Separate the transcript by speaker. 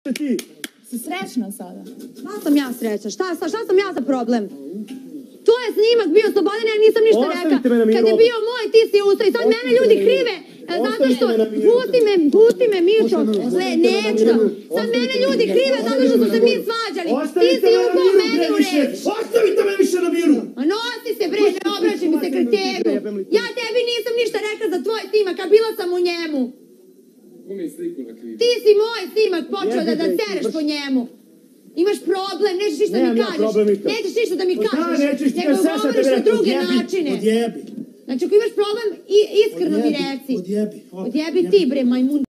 Speaker 1: Ti
Speaker 2: si srećna sada?
Speaker 3: Šta sam ja srećna? Šta sam ja za problem? To je snimak bio Slobodan, ja nisam ništa rekla. Kad je bio moj, ti si ustao i sad mene ljudi krive. Zato što, pusti me Mišo, neću. Sad mene ljudi krive zato što su se mi svađali. Ti si upao meni u reč.
Speaker 1: Ostavite me više na miru!
Speaker 3: A nosi se bre, ne obraćaj mi se kreteru. Ja tebi nisam ništa rekla za tvoj snimak, a bila sam u njemu. Ti si moj snimak počeo da sereš po njemu. Imaš problem, nećeš ništa da mi kažeš. Nećeš ništa da mi kažeš, nego govoriš na druge načine. Znači, ako imaš problem, iskreno mi reci. Odjebi ti bre, majmun.